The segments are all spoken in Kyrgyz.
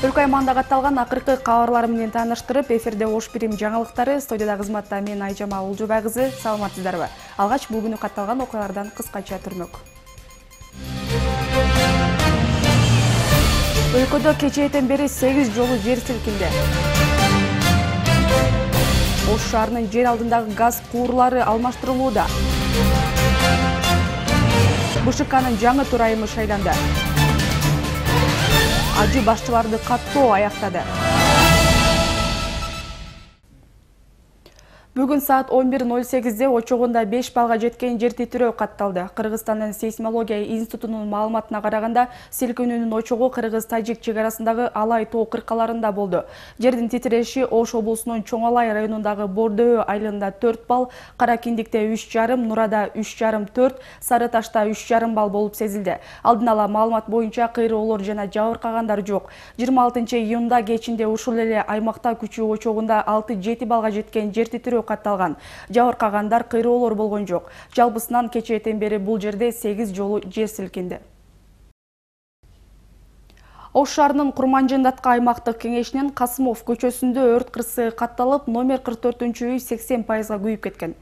Өлкө аймагында катталган акыркы кабарлар менен тааныштырып, эфирде Ош Бирим жаңылыктары, студияда кызматта мен Айжама Улжубай кызы. Саламатсыздарбы? Алгач бул күнү катталган окуялардан кыскача түрмөк. Өлкөдө кечээден бери 8 жолу жер силкинди. Ош шаарынын жер алдындагы газ куурлары алмаштырылууда. БШКнын жаңы төрайымы шайланды. Ажы башчыларды каттоо аяктады. Бүгүн саат 11:08-де очогунда 5 балга жеткен жер титирөө катталды. Кыргызстандын сейсмология институтунун маалыматына караганда, силкинүүнүн очогу Кыргыз-Тажик чек арасындагы Алай тоо кыркаларында болду. Жердин титиреши Ош облусунун Чоң Алай районундагы Бордөө айылында 4 балл, Кара Киндикте 3,5, Нурада 3,5, 4, Сары Ташта 3,5 балл болуп сезилди. Алдын ала маалымат боюнча кыйроолор жана жабыркагандар жок. 26-июнда кечинде ушул эле аймакта күчүү очогунда 6-7 балга жеткен жер титирөө катталган. Жабыркагандар, кыйроолор болгон жок. Жалпысынан кечээден бери бул жерде 8 жолу жер силкинди. Ош шаарынын Курманжындатка аймактык кеңешинин Касымов көчөсүндө өрт кырсыгы катталып, номер 44-үй 80%-га күйүп кеткен.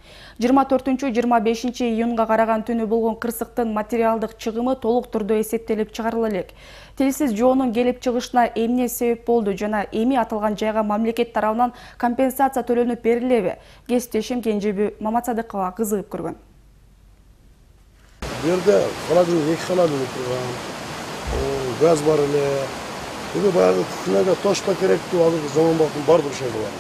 24-25 июнга караган түнү болгон кырсыктын материалдык чыгымы толук түрдө эсептелип чыгарыла элек. Тилсиз жоонун келип чыгышына эмне себеп болду жана эми аталган жайга мамлекет тарабынан компенсация төлөнүп берилеби? Кесиптешим Кенжеби Маматсадыкова кызыгып көргөн. Бу жерде холодильник, 2 холодильник турган. Gaz var ele. Bunu bayağı kükünege toşpa gerekti. Azırkı zaman bakın bardır şey var.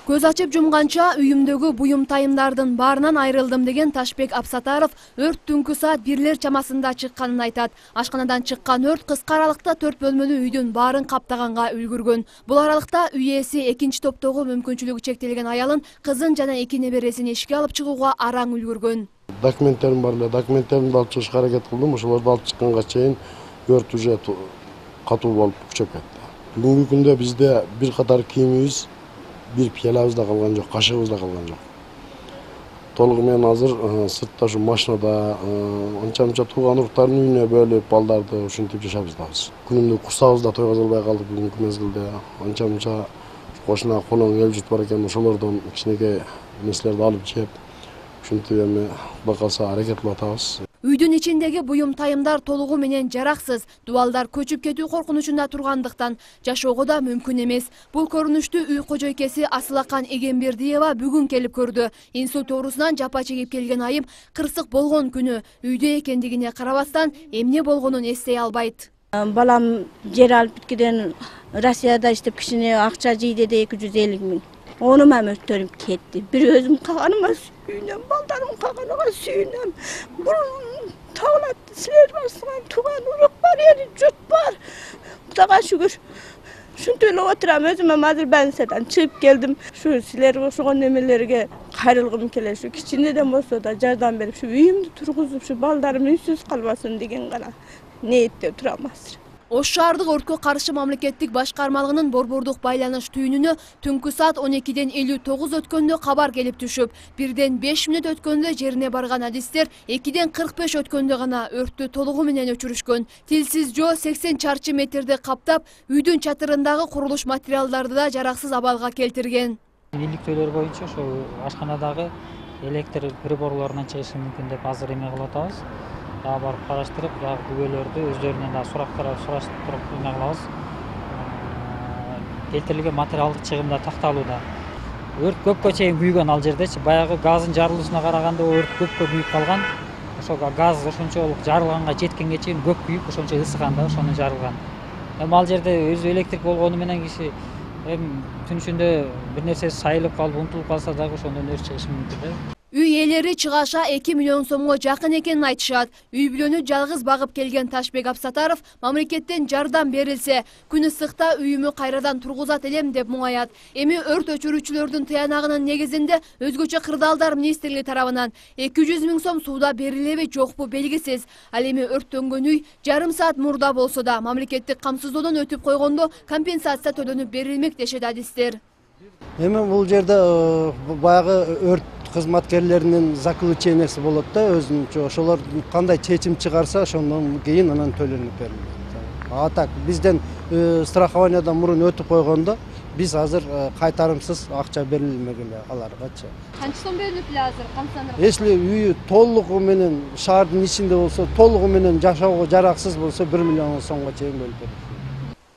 Көз ачып жумганча үйүмдөгү буюм тайымдардын баарынан айрылдым деген Ташбек Абсатаров өрт түнкү саат 1 чамасында чыкканын айтат. Ашканадан чыккан өрт кыска аралыкта 4 бөлмөлүү үйдүн баарын каптаганга үлгүргөн. Бул аралыкта үй ээси экинчи топтогу мүмкүнчүлүгү чектелген аялын, кызын жана 2 небересин эшикке алып чыгууга араң үлгүргөн. Документтерим бар эле. Документтеримди алып чыгышка аракет кылдым. Ошолорду алып чыкканга чейин өрт уже катуу болуп күчөп кетти. Бүгүнкү күндө бизде бир катар кийимибиз, бир пиялабыз да калган жок, кашыгыбыз да калган жок. Толугу менен азыр сыртта ушу машинада анча-мынча тууган уруктардын үйүнө бөлүп, балдарды ушинтип жашабыз да биз. Күнүмдүк курсагыбызда тойгозо албай калдык бүгүнкү мезгилде. Анча-мынча кошуна коноң эл жут бар экен, ошолордон кичинекей нерселерди алып жеп, ушинтип эми Кудай калса аракет кылып атабыз. Үйдүн ичиндеги буюм тайымдар толугу менен жараксыз, дубалдар көчүп кетүү коркунучунда тургандыктан жашоого да мүмкүн эмес. Бул көрүнүштү үй кожойкеси Асылакан Эгембердиева бүгүн келип көрдү. Инсульт оорусунан жапа чегип келген айым кырсык болгон күнү үйдө экендигине карабастан эмне болгонун эстей албайт. Балам жер алып бүткөдөн Россияда иштеп кичине акча жийди де 250 000. Onu mən ötürüp ketdi. Bir özüm kağanıma suyunam, baldarım kağanıma suyunam. Bunun tağlattı, siler basılan, tuğan uruk var, yeri cüt var. Kudağa şükür. Şunu öyle oturam, özüme hazır ben seden çıkıp geldim. Şu siler koşuğun emelerine kayrılgım keler. Şu kiçineden olsa da jardan berip, şu üyümdü turguzup, şu baldarım ünsüz kalmasın degen gana. Ne etti oturamazdır. Ош шаардык өрткө каршы мамлекеттик башкармалыгынын борбордук байланыш түйүнүнө түнкү саат 12:59 өткөндө кабар келип түшүп, 1:05 мүнөт өткөндө жерине барган адистер 2:45 өткөндө гана өрттү толугу менен өчүрүшкөн. Тилсиз жоо 80 чарчы метрди каптап, үйдүн чатырындагы курулуш материалдарды да жараксыз абалга келтирген. Иликтөөлөр боюнча ошо ашканадагы электр приборлорунан чыгышы мүмкүн деп азыр эме кылып атабыз. Daha barıp araştırıp, güvölörдү özlerinden daha suraştırıp эме кылабыз. Келтирилген материалдык чыгымда такталууда. Өрт көпкө чейин күйгөн ал жердечи. Баягы газдын жарылышына караганда өрт көпкө күйүп калган. Ошо газ ошончолук жарылганга жеткенге чейин көп күйүп, ошончо ысыган да ошону жарылган. Эми ал жерде өзү электрик болгону менен киши түн ичинде бир нерсе сайылып калып, унутулуп калса дагы ошондон өрт чыгышы мүмкүн да. Үй ээлери чыгаша 2 миллион сомго жакын экенин айтышат. Үй бүлөнү жалгыз багып келген Ташбек Абсатаров мамлекеттен жардам берилсе, күн ысыкта үйүмү кайрадан тургузат элем деп муңаят. Эми өрт өчүрүүчүлөрдүн тыянагынын негизинде өзгөчө кырдаалдар министрлиги тарабынан 200 000 сом сууда берилеби жокпу белгисиз. Ал эми өрттөнгөн үй жарым саат мурда болсо да мамлекеттик камсыздоодон өтүп койгондо компенсация төлөнүп берилмек дешет адистер. Эми бул жерде баягы өрт кызматкерлеринин заключениясы болот да өзүнчө. Ошолор кандай чечим чыгарса, ошондон кийин анан төлөнүп берилет. А так бизден страхованиядан мурун өтүп койгондо биз азыр кайтарымсыз акча берилмеген аларгачы. Канча сом берилип эле азыр кондиционер? Если үйү толугу менен шаардын ичинде болсо, толугу менен жашоого жараксыз болсо 1 миллион сомго чейин бөлүп берет.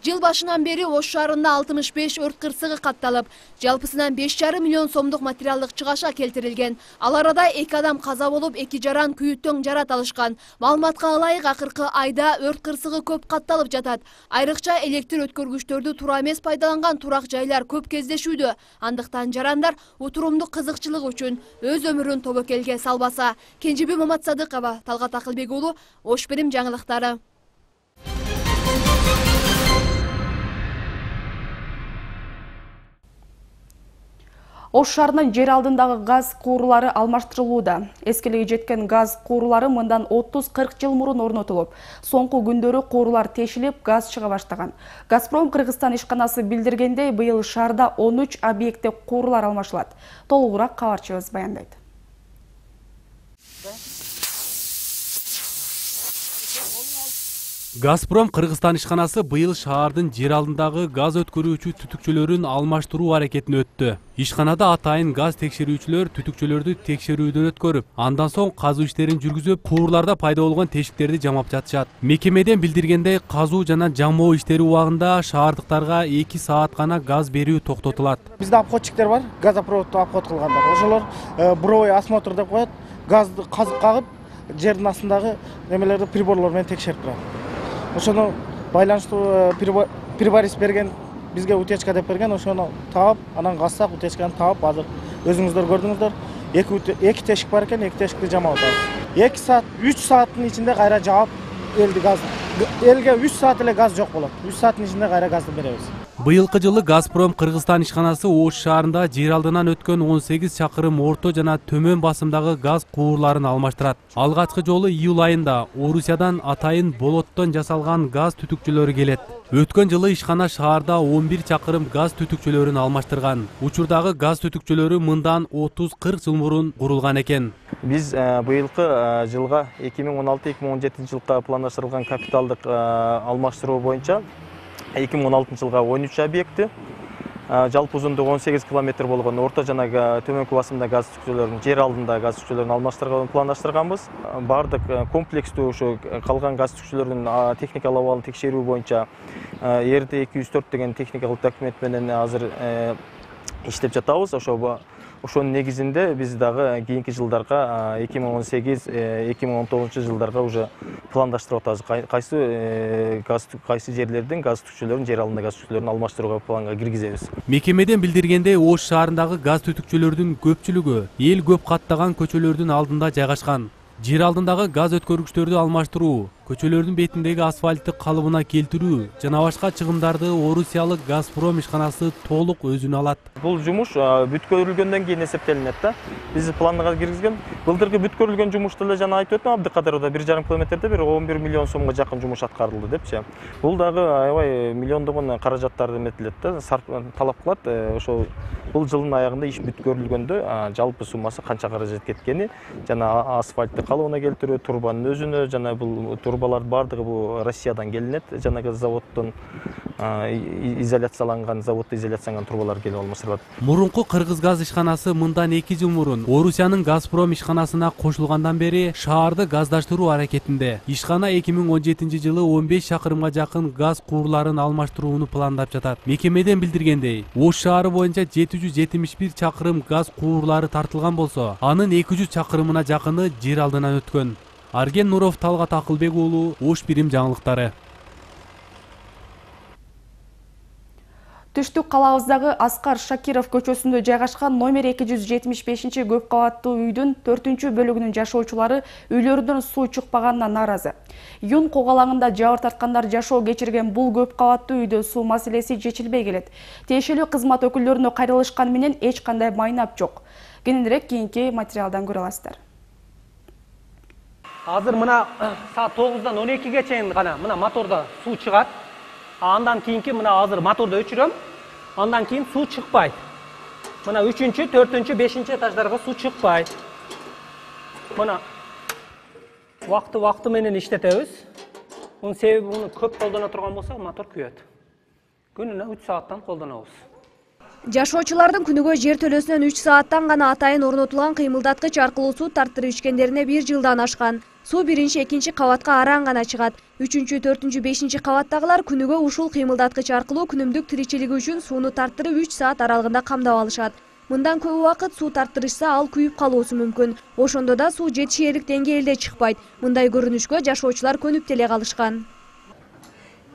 Жыл башынан бери Ош шаарында 65 өрт кырсыгы катталып, жалпысынан 5,5 миллион сомдук материалдык чыгаша келтирилген. Ал арада 2 адам каза болуп, 2 жаран күйүттөң жарат алышкан. Маалыматка ылайык акыркы айда өрт кырсыгы көп катталып жатат. Айрыкча электр өткөргүчтөрдү туура эмес пайдаланган турак жайлар көп кездешүүдө. Андыктан жарандар утурумдук кызыкчылык үчүн өз өмүрүн тобокелге салбаса. Кенжеби Маматсадыкова, Талгат Акылбек уулу, Ош Бирим жаңылыктары. Ош шаарынын жер алдындагы газ куурулары алмаштырылууда. Эскилиги жеткен газ куурулары мындан 30-40 жыл мурун орнотулуп, соңку күндөрү куурулар тешилип, газ чыга баштаган. Газпром Кыргызстан ишканасы билдиргендей, быйыл шаарда 13 объектте куурулар алмашылат. Толугураак кабарчыбыз баяндайт. Газпром Кыргызстан ишканасы быйыл шаардын жер алдындагы газ өткөрүүчү түтүкчөлөрүн алмаштыруу аракетин өттү. Ишканада атайын газ текшерүүчүлөр түтүкчөлөрдү текшерүүдөн өткөрүп, андан соң казуу иштерин жүргүзүп, куурларда пайда болгон тешиктерди жамап жатышат. Мекемеден билдиргендей, казуу жана жамоо иштери убагында шаардыктарга 2 саат гана газ берүү токтотулат. Бизде обходчиктер бар, газопроводду обход кылгандар. Ошолор буровой осмотр деп коет, газды казып кагып, жердин астындагы немелерди приборлор менен текшерип турат. Ошону байланыштуу приборис берген, бизге утечка деп берген, ошону таап, анан кассак утечканы таап, азыр өзүңүздөр көрдүңүздөр, 2 тешик бар экен, 2 тешикти жамап атабыз. 2 саат, 3 сааттын ичинде кайра жаап элди газ. Элге 3 саат эле газ жок болот. 3 сааттын ичинде кайра газды беребиз. Быйылкы жылы Газпром Кыргызстан ишканасы Ош шаарында жер алдынан өткөн 18 чакырым орто жана төмөн басымдагы газ куурларын алмаштырат. Алгачкы жолу июль айында Орусиядан атайын болоттон жасалган газ түтүкчөлөрү келет. Өткөн жылы ишкана шаарда 11 чакырым газ түтүкчөлөрүн алмаштырган. Учурдагы газ түтүкчөлөрү мындан 30-40 жыл мурун курулган экен. Биз быйылкы жылга 2016-2017 жылга пландаштырылган капиталдык алмаштыруу боюнча 2016 жылга 13 объекти, жалпы узундугу 18 километр болгон орто жана төмөнкү басымда газ түтүкчөлөрүн, жер алдында газ түтүкчөлөрүн алмаштырууну пландаштырганбыз. Бардык комплекстүү ушу калган газ түтүкчөлөрүнүн техникалык абалын текшерүү боюнча РД-204 деген техникалык документ менен азыр иштеп жатабыз. Ошонун негизинде биз дагы кийинки жылдарга 2018-2019 жылдарга уже пландаштырып атабыз. Кайсы жерлердин газ түтүкчөлөрүн, жер алдында газ түтүкчөлөрүн алмаштырууга планга киргизебиз. Мекемеден билдиргендей, Ош шаарындагы газ түтүкчөлөрдүн көпчүлүгү эл көп каттаган көчөлөрдүн алдында жайгашкан. Жер алдындагы газ өткөргүчтөрдү алмаштыруу, көчөлөрдүн бетиндеги асфальтты калыбына келтирүү жана башка чыгымдарды Орусиялык Газпром ишканасы толук өзүнө алат. Бул жумуш бүткөрүлгөндөн кийин эсептелинет да. Биз планга киргизген. Былтыркы бүткөрүлгөн жумушту эле жана айтып өттүм, Абдыкадыровда 1,5 километрде 11 миллион сомго жакын жумуш аткарылды депчи. Бул дагы аябай миллиондогон каражаттарды эметилет да, талап кылат. Ошол бул жылдын аягында иш бүткөрүлгөндө жалпы суммасы канча каражат кеткени жана асфальтты калыбына келтирүү, турбанын өзүнө жана бул турбалар бардыгы бул Россиядан келинет, жанагы заводдон изоляцияланган, заводдо изоляцияланган турбалар келип алмаштырылат. Мурунку Кыргыз газ ишканасы мындан 2 жыл мурун Орусиянын Газпром ишканасына кошулгандан бери шаарды газдаштыруу аракетинде. Ишкана 2017 жылы 15 чакырымга жакын газ куурларын алмаштырууну пландап жатат. Мекемеден билдиргендей, Ош шаары боюнча 771 чакырым газ куурлары тартылган болсо, анын 200 чакырымына жакыны жер алдынан өткөн. Арген Нуров, Талгат Акылбек уулу, Ош Бирим жаңылыктары. Түштүк калабыздагы Аскар Шакиров көчөсүндө жайгашкан номер 275 көп кабаттуу үйдүн 4-бөлүгүнүн жашоочулары үйлөрүнөн суу чыкпаганына нааразы. Юн когалаңында жабыр тарткандар жашоо кечирген бул көп кабаттуу үйдө суу маселеси чечилбей келет. Тиешелүү кызмат өкүлдөрүнө кайрылышкан менен эч кандай майнап жок. Кененирээк кийинки материалдан көрө аласыздар. Азыр мына саат 9-дан 12-ге чейин гана мына мотордо суу чыгат. Андан кийинки мына азыр моторду өчүрөм. Андан кийин суу чыкпайт. Мына 3-чү, 4-чү, 5-чи этаждарга суу чыкпайт. Мына вакты менен иштетебиз. Bunun sebebi bunu köp koldana turgan bolsa мотор kүйөт. Күнүнө 3 сааттан колдонобуз. Жашоочулардын күнүгө жер төлөсүнөн 3 сааттан гана атайын орнотулган кыймылдаткыч аркылуу суу тартырып ичкендерине 1 жылдан ашкан. Суу 1-2 кабатка араң гана чыгат. 3-4, 5 кабаттагылар күнүгө ушул кыймылдаткыч аркылуу күнүмдүк тиричилиги үчүн сууну тартырып 3 саат аралыгында камдап алышат. Мындан көп убакыт суу тартырышса ал күйүп калуусу мүмкүн. Ошондо да суу жетишээрлик деңгээлде чыкпайт. Мындай көрүнүшкө жашоочулар көнүп деле калышкан.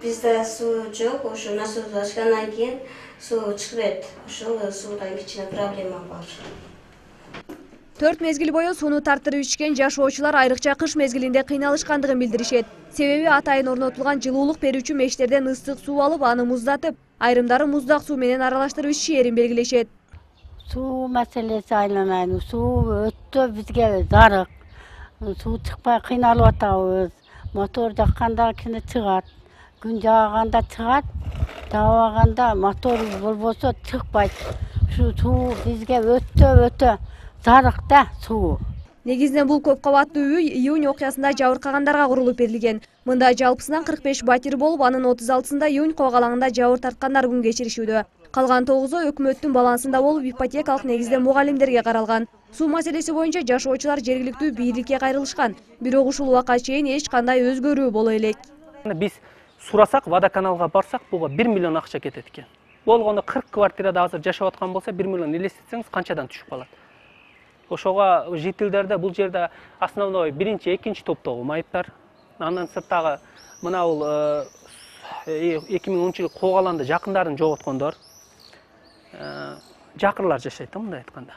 Бизде суу жок, ошо насос ачкандан кийин суу чыкпайт. Ошол суудан кичине проблема бар. 4 мезгил бою сууну тартырып ичкен жашоочулар айрыкча кыш мезгилинде кыйналышкандыгын билдиришет. Себеби атайын орнотулган жылуулук берүүчү мештерден ыстык суу алып, аны муздатып, айрымдары муздак суу менен аралаштырып ичишээрин белгилешет. Суу маселеси айланайын. Суу өтө бизге зарык. Суу чыкпай кыйналып атабыз. Мотор жакканда кичине чыгат. Күн жааганда чыгат. Жаабаганда мотор болбосо чыкпайт. Ушу суу бизге өтө зарык да суу. Негизинен бул көп кабаттуу үй июнь окуясында жабыркагандарга курулуп берилген. Мында жалпысынан 45 батир болуп, анын 36-сында июнь коогалаңында жабыр тарткандар күн кечиришүүдө. Калган 9-у өкмөттүн балансында болуп, ипотекалык негизде мугалимдерге каралган. Суу маселеси боюнча жашоочулар жергиликтүү бийликке кайрылышкан. Бирок ушул убакка чейин эч кандай өзгөрүү боло элек. Биз сурасак, водоканалга барсак, буга 1 миллион акча кетет экен. Болгондо 40 квартирада азыр жашап аткан болсо 1 миллион элестетсеңиз канчадан түшүп калат. Ошого жителдерде бул жерде основной биринчи, экинчи топтогу майыптар. Андан сырттагы мына бул 2010-жылы коогаланды жакындарын жоготкондор, жакырлар жашайт да мындай айтканда.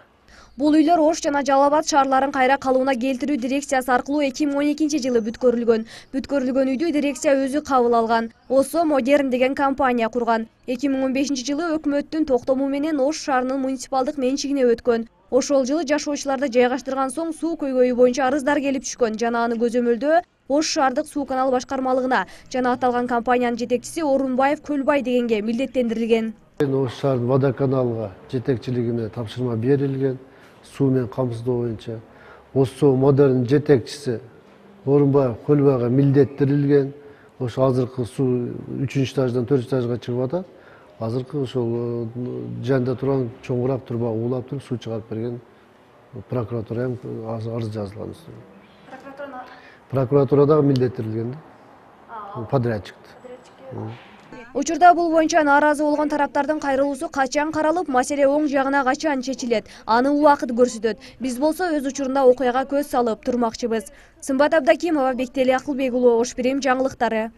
Бул үйлөр Ош жана Жалал Абад шаарларын кайра калууна келтирүү дирекциясы аркылуу 2012-жылы бүткөрүлгөн. Бүткөрүлгөн үйдү дирекция өзү кабыл алган. Осо Модерн деген компания курган. 2015-жылы өкмөттүн токтому менен Ош шаарынын муниципалдык менчигине өткөн. Ошол жылы жашоочуларды жайгаштырган соң суу көйгөйү боюнча арыздар келип түшкөн жана аны көзөмөлдөө Ош шаардык суу канал башкармалыгына жана аталган компаниянын жетекчиси Орунбаев Көлбай дегенге милдеттендирилген. Ош шаардын водоканалга жетекчилигине тапшырма берилген. Суу менен камсыздоо боюнча Осо Модерн жетекчиси Орунбаев Көлбайга милдеттирилген. Ошо азыркы суу 3-этаждан 4-этажга чыгып атат. Азыркы ошол жанында турган чоңурап турбак уулап туруп суу чыгарып берген прокуратура ham арыз жазылган. Прокуратура дагы милдеттирилген да. Подрядчикти. Учурда бул боюнча нааразы болгон тараптардын кайрылуусу качан каралып, маселе оң жагына качан чечилет, аны убакыт көрсөтөт. Биз болсо өз учурунда окуяга көз салып турмакчыбыз. Сымбат Абдакимова, Бектели Акылбек уулу, Ош Бирим жаңылыктары.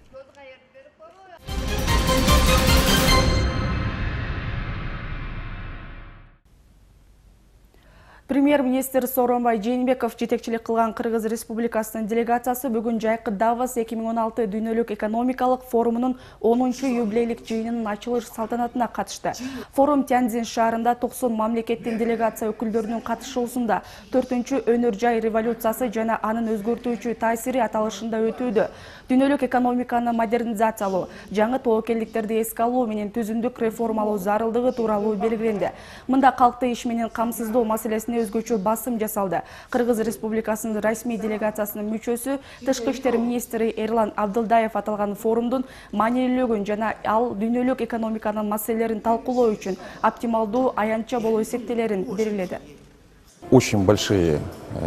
Премьер-министр Сооронбай Жээнбеков жетекчилик кылган Кыргыз Республикасынын делегациясы бүгүн жайкы Давос 2016 дүйнөлүк экономикалык форумунун 10-юбилейлик жыйынынын ачылыш салтанатына катышты. Форум Тяньцзин шаарында 90 мамлекеттин делегация өкүлдөрүнүн катышуусунда 4-өнөр жай революциясы жана анын өзгөртүүчү таасири аталышында өтүүдө. Дүйнөлүк экономиканы модернизациялоо, жаңы тобокелдиктерди эске алуу менен түзүмдүк реформалоо зарылдыгы тууралуу белгиленди. Мында калкты иш менен камсыздоо маселесине өзгөчө басым жасалды. Кыргыз Республикасынын расмий делегациясынын мүчөсү, тышкы иштер министри Эрлан Абдылдаев аталган форумдун маанилүүлүгүн жана ал дүйнөлүк экономиканын маселелерин талкуулоо үчүн оптималдуу аянтча болуп эсептелерин белгиледи. Очень большие,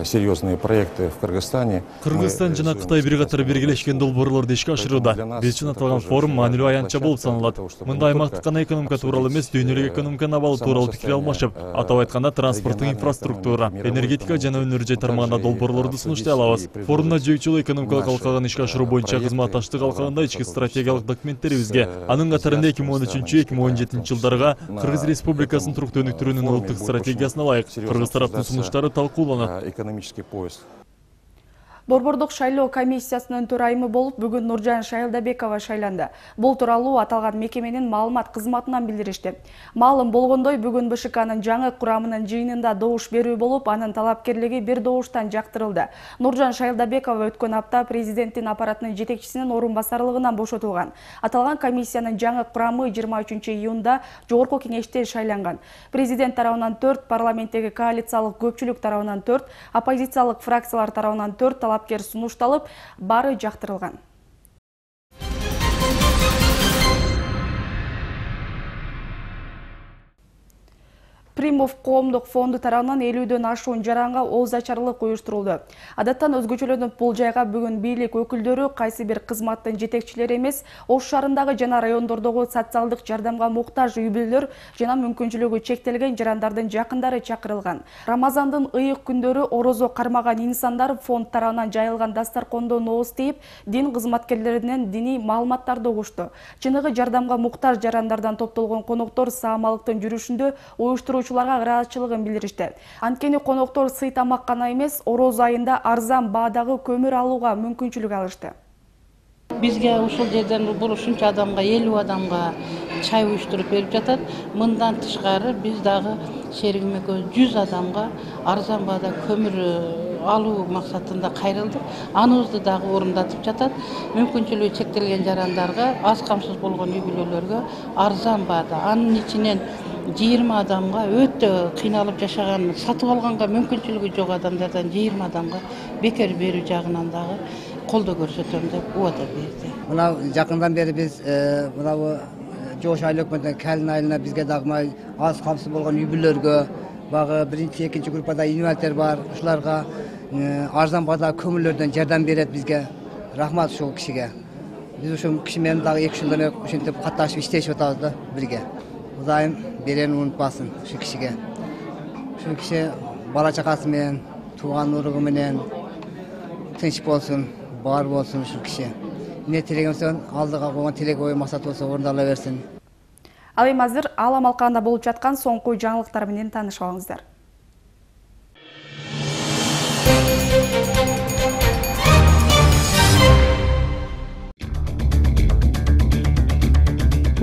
серьезные проекты в Кыргызстане. Кыргызстан жана Кытай бир катар биргелешкен долбоорлорду ишке ашырууда. Биз үчүн аталган форум маанилүү аянтча болуп саналат. Мында аймактык гана экономика тууралуу эмес, дүйнөлүк экономиканын абалы тууралуу пикир алмашып, атап айтканда транспорттук инфраструктура, энергетика жана өнөр жай тармагында долбоорлорду сунуштай алабыз. Форумда жыйынтыгы экономикалык алкагын ишке ашыруу боюнча кызматташтык алкагында ички стратегиялык документтерибизге, анын катарында 2013-2017 жылдарга Кыргыз Республикасынын туруктуу өнүктүрүүнүн улуттук стратегиясына ылайык кыргыз тараптын сунуштары талкууланат. Экономический поиск. Борбордук шайлоо комиссиясынын төрайымы болуп бүгүн Нуржан Шайлдабекова шайланды. Бул тууралуу аталган мекеменин маалымат кызматынан билдиришти. Маалым болгондой, бүгүн БШКнын жаңы курамынын жыйынында добуш берүү болуп, анын талапкерлиги бир добуштан жактырылды. Нуржан Шайлдабекова өткөн апта президенттин аппаратынын жетекчисинин орун басарлыгынан бошотулган. Аталган комиссиянын жаңы курамы 23-июнда жогорку кеңеште шайланган. Президент тарабынан 4, парламенттеги коалициялык көпчүлүк тарабынан 4, оппозициялык фракциялар тарабынан 4 талапкер сунушталып, баары жактырылган. Кримов коомдук фонду тарабынан 50дөн ашуун жаранга ооз ачарлык уюштурулду. Адаттан өзгөчөлөнүп бул жайга бүгүн бийлик өкүлдөрү кайсы бир кызматтын жетекчилери эмес, Ош шаарындагы жана райондордогу социалдык жардамга муктаж үй-бүлөлөр жана мүмкүнчүлүгү чектелген жарандардын жакындары чакырылган. Рамазандын ыйык күндөрү орозо кармаган инсандар фонд тарабынан жайылган дастаркондон ооз тийип, дин кызматкерлеринен диний маалыматтарды угушту. Чыныгы жардамга муктаж жарандардан топтолгон коноктор саамалыктын жүрүшүндө уюштуруучуларга ыраазычылыгын билдиришти. Анткени коноктор сый тамак гана эмес, ороз айында арзан баадагы көмүр алууга мүмкүнчүлүк алышты. Бизге ушул жерден бул ушунча адамга 50 адамга чай уюштуруп берип жатат. Мындан тышкары биз дагы шеригим экөөбүз 100 адамга арзан баада көмүр алуу максатында кайрылдык. Аныбызды дагы орундатып жатат. Мүмкүнчүлүгү чектелген жарандарга, аз камсыз болгон үй-бүлөлөргө арзан баада, анын ичинен 20 адамга өтө кыйналып жашаган, сатып алганга мүмкүнчүлүгү жок адамдардан 20 адамга бекер берүү жагынан дагы колдоо көрсөтөм деп убада берди. Мына жакындан бери биз мына жош айыл өкмөтүнөн Калин айылына бизге дагы аз камсыз болгон үй-бүлөлөргө, багы биринчи, экинчи группада инвалидтер бар, ушуларга арзан баада көмүрлөрдөн жардам берет бизге. Рахмат ушул кишиге. Биз ушул киши менен дагы 2 жылдан бери ушинтип катташып иштешип атабыз да бирге. Кудайым берени унутпасын ушул кишиге. Ушул киши бала чакасы менен, тууган уругу менен тынч болсун, бар болсун ушул киши. Эмне тилегимсен, алдыга койгон тилек ой максат болсо орундала берсин. Ал эми азыр Алам алкагында болуп жаткан соңку жаңылыктар менен таанышып алыңыздар.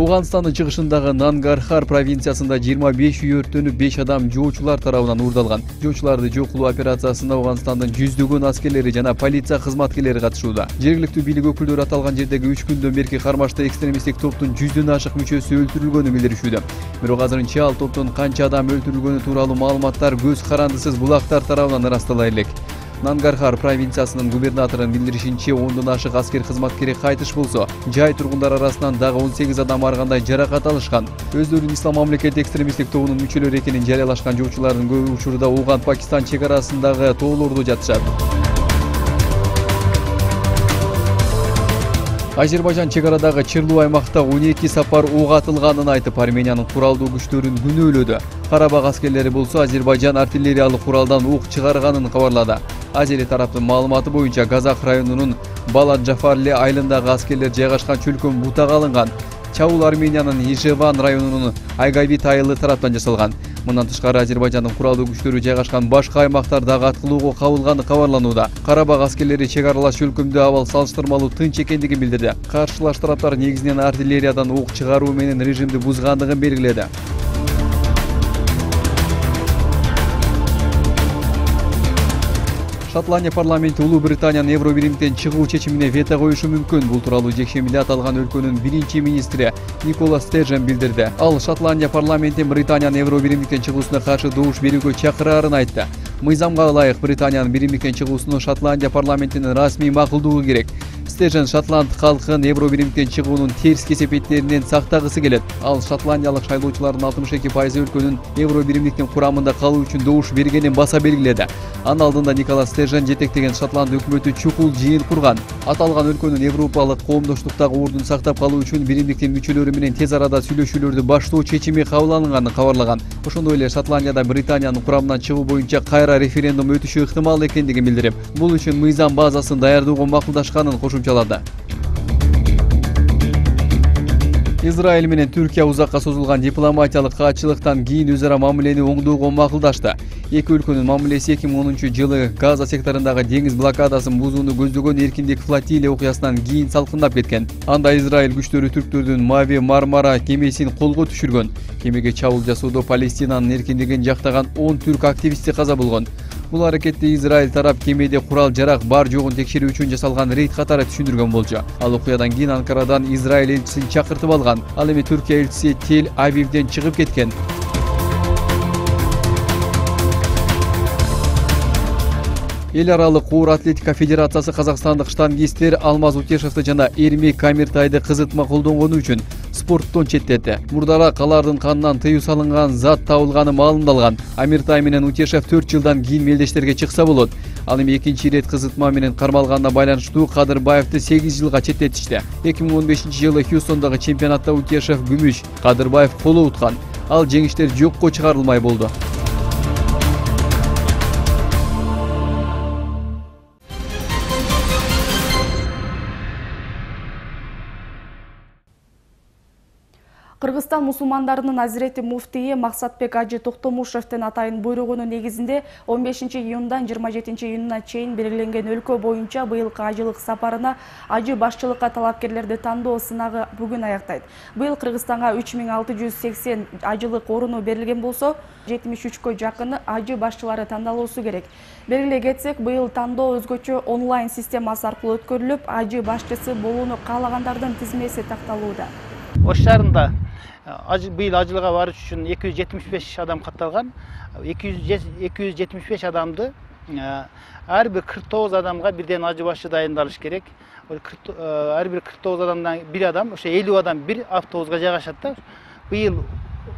Ауганстандын чыгышындагы Нангархар провинциясында 25 үй өрттөнүп 5 адам жоочулар тарабынан уурдалган. Жоочуларды жок кылуу операциясына Ауганстандын жүздөгөн аскерлери жана полиция кызматкерлери катышууда. Жергиликтүү бийлик өкүлдөрү аталган жердеги 3 күндөн берки кармашта экстремисттик топтун 100дөн ашык мүчөсү өлтүрүлгөнүн билдиришүүдө. Бирок азырынча ал топтун канча адам өлтүрүлгөнү тууралуу маалыматтар көз карандысыз булактар тарабынан ырастала элек. Нангархар провинциясынын губернаторунун билдиришинче 10дон ашык аскер кызматкери кайтыш болсо, жай тургундар арасынан дагы 18 адам ар кандай жаракат алышкан. Өздөрүнүн Ислам мамлекети экстремисттик тобунун мүчөлөрү экенин жарыялашкан жоочулардын көбү учурда Ауган-Пакистан чек арасындагы тоолордо жатышат. Азербайжан чек арадагы Чырлуу аймакта 12 сапар ок атылганын айтып, Армениянын куралдуу күчтөрүн күнөөлөдү. Карабак аскерлери болсо Азербайжан артиллериялык куралдан ок чыгарганын кабарлады. Азери тараптын маалыматы боюнча Казак районунун Балат-Жафарле айылындагы аскерлер жайгашкан чөлкөн бутага алынган. Чабуул Армениянын Ижеван районунун Айгавит айылы тараптан жасалган. Мындан тышкары Азербайжандын куралдуу күчтөрү жайгашкан башка аймактардагы аткылоого кабылганы кабарланууда. Карабак аскерлери чек аралаш чөлкөмдө абал салыштырмалуу тынч экендигин билдирди. Каршылаш тараптар негизинен артиллериядан ок чыгаруу менен режимди бузгандыгын белгиледи. Шотландия парламенти Улуу Британиянын Евро биримден чыгуу чечимине вето коюшу мүмкүн. Бул тууралуу жекшембиде аталган өлкөнүн биринчи министри Никола Стержен билдирди. Ал Шотландия парламенти Британиянын Евро биримден чыгуусуна каршы добуш берүүгө чакырарын айтты. Мыйзамга ылайык Британиянын биримден чыгуусуну Шотландия парламентинин расмий макулдугу керек. Стержен Шотланд калкын Евро биримден чыгуунун терс кесепеттеринен сактагысы келет. Ал шотландиялык шайлоочулардын 62% өлкөнүн Евро биримдиктин курамында калуу үчүн добуш бергенин баса белгиледи. Анын алдында Никола Стержен жетектеген Шотланд өкмөтү чукул жыйын курган. Аталган өлкөнүн Европалык коомдоштуктагы ордун сактап калуу үчүн биримдиктин мүчөлөрү менен тез арада сүйлөшүүлөрдү баштоо чечими кабыл алынганын кабарлаган. Ошондой эле Шотландияда Британиянын курамынан чыгуу боюнча кайра референдум өтүшү ыктымал экендигин билдирип, бул үчүн мыйзам базасын даярдоого макулдашканын кошумчалады. Израиль менен Түркия узакка созулган дипломатиялык каатчылыктан кийин өзара мамилени оңдоого макулдашты. Эки өлкөнүн мамилеси 2010-жылы Газа секторундагы деңиз блокадасын бузууну көздөгөн эркиндик флотилия окуясынан кийин салкындап кеткен. Анда Израиль күчтөрү түрктөрдүн Мави Мармара кемесин колго түшүргөн. Кемеге чабуул жасоодо Палестинанын эркиндигин жактаган 10 түрк активисти каза болгон. Бул аракетти Израиль тарап кемеде курал-жарак бар жогун текшерүү үчүн жасалган рейд катары түшүндүргөн болчу. Ал окуядан кийин Анкарадан Израиль элчисин чакыртып алган. Ал эми Түркия элчиси Тель-Авивден чыгып кеткен. Эл аралык оор атлетика федерациясы казакстандык штангисттер Алмаз Утешевди жана Эрмек Камертайды кызытма колдонгону үчүн спорттон четтети. Мурдара калардын канынан тыюу салынган зат табылганы маалымдалган. Амиртай менен Утешев 4 жылдан кийин мелдештерге чыкса болот. Ал эми экинчи ирет кызытма менен кармалганына байланыштуу Кадырбаевди 8 жылга четтетишти. 2015-жылы Хьюстондагы чемпионатта Утешев күмүш, Кадырбаев коло уткан. Ал жеңиштер жокко чыгарылмай болду. Кыргызстан мусулмандарынын азирети муфтийи Максатбек Ажы Токтомушевдин атайын буйругунун негизинде 15-июндан 27-июнуна чейин белгиленген өлкө боюнча быйылкы ажылык сапарына ажы башчылыкка талапкерлерди тандоо сынагы бүгүн аяктайт. Быйыл Кыргызстанга 3680 ажылык орunu берилген болсо, 73кө жакыны ажы башчылары тандалуусу керек. Белгилей кетсек, быйыл тандоо өзгөчө онлайн системасы аркылуу өткөрүлүп, ажы башчысы болууну каалагандардын тизмеси такталууда. Ош шаарында быйыл ажылыга барыш үчүн 275 адам катталган. 275 адамды ар бир 49 адамга бирден ажы башчы дайындалыш керек. Ар бир 49 адамдан бир адам, ошо 50 адам бир автобуска жайгашат да. Быйыл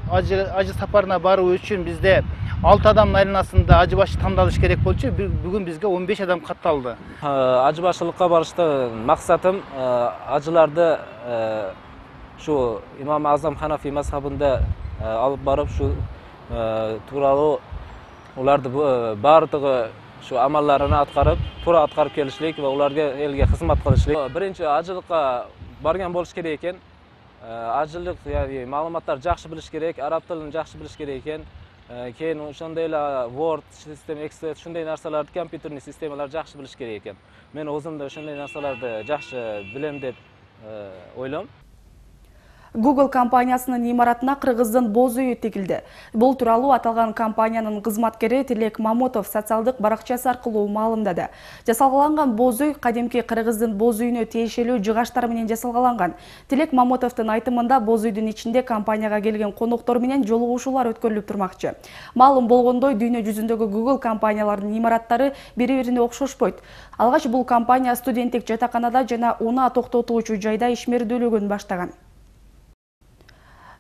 ажы сапарына баруу үчүн бизде 6 адамдын айланасында ажы башчы тандалыш керек болчу. Бүгүн бизге 15 адам катталды. Ажы башчылыкка барыштын максатым ажыларды şu İmam Azam Hanafi mazhabında alıp barıp şu tuuralı ulardı bardыгы şu amallarını atkarıp tura atkarıp kelişlik ve ularga elge hizmet kılışlik. Birinci ajılıkka bargan boluş gerek eken. Ajılık yani malumatlar jakşı biliş gerek, arap tilini jakşı biliş gerek eken. Keyin ошондой эле Word sistem, Excel şunday narsalardı kompüterный sistemalar jakşı biliş gerek eken. Men özümde şunday narsalardı jakşı bilem dep ойлойм. Google компаниясынын имаратына кыргыздын боз үйү тигилди. Бул тууралуу аталган компаниянын кызматкери Тилек Мамотов социалдык баракчасы аркылуу маалымдады. Жасалгаланган боз үй кадимки кыргыздын боз үйүнө тиешелүү жыгаштар менен жасалгаланган. Тилек Мамотовдун айтымында боз үйдүн ичинде компанияга келген коноктор менен жолугушуулар өткөрүлүп турмакчы. Маалым болгондой, дүйнө жүзүндөгү Google компанияларынын имараттары бири-бирине окшошпойт. Алгач бул компания студенттик жатаканада жана унаа токтотуучу жайда ишмердүүлүгүн баштаган.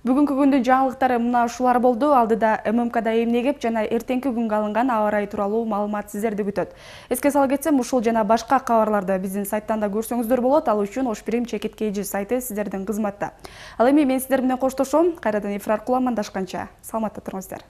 Бүгүнкү күндүн жаңылыктары мына ушулар болду. Алдыда ММКда эмнегип жана эртеңки күнгө алынган аба ырайы тууралуу маалымат сиздерди күтөт. Эске сала кетсем, ушул жана башка кабарларды биздин сайттан да көрсөңүздөр болот. Ал үчүн Ош Прим чекит KG сайты сиздердин кызматта. Ал эми мен сиздер менен коштошом. Кайрадан эфир аркылуу амандашканча саламатта туруңуздар.